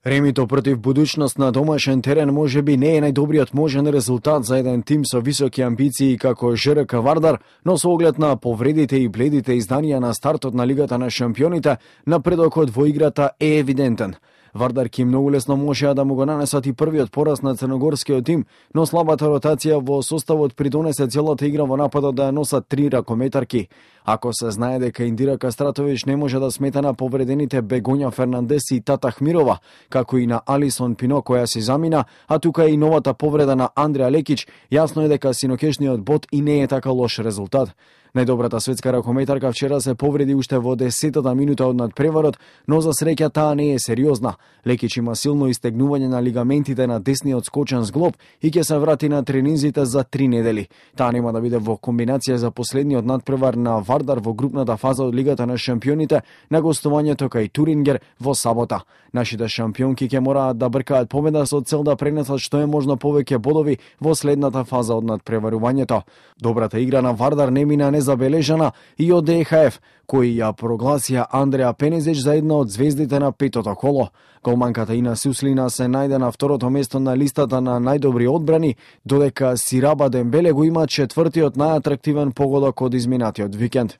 Ремито против Будуćност на домашен терен можеби не е најдобриот можен резултат за еден тим со високи амбиции како ЖРК Вардар, но со оглед на повредите и бледите изданија на стартот на Лигата на шампионите, напредокот во играта е евидентен. Вардарки многу лесно можеа да му го нанесат и првиот пораз на црногорскиот тим, но слабата ротација во составот придонесе целата игра во нападот да ја носат три ракометарки. Ако се знае дека Индира Кастратовиќ не може да смета на повредените Бегоња Фернандес и Тата Хмирова, како и на Алисон Пино која се замина, а тука и новата повреда на Андреа Лекич, јасно е дека синокешниот бод и не е така лош резултат. Најдобрата светска ракометарка вчера се повреди уште во 10-та минута од надпреварот, но за среќа таа не е сериозна. Лекич има силно истегнување на лигаментите на десниот скочен зглоб и ќе се врати на тренинзите за 3 недели. Таа нема да биде во комбинација за последниот надпревар на Вардар во групната фаза од Лигата на шампионите на гостувањето кај Турингер во сабота. Нашите шампионки ќе мораат да бркаат победа со цел да пренесат што е можно повеќе бодови во следната фаза од надпреварувањето. Добрата игра на Вардар не мина незабележана и од ДХФ, кои ја прогласија Андреа Пенезич за една од звездите на петото коло. Голманката Ина Суслина се најде на второто место на листата на најдобри одбрани, додека Сираба Дембеле го има четвртиот најатрактивен погодок од изминатиот викенд.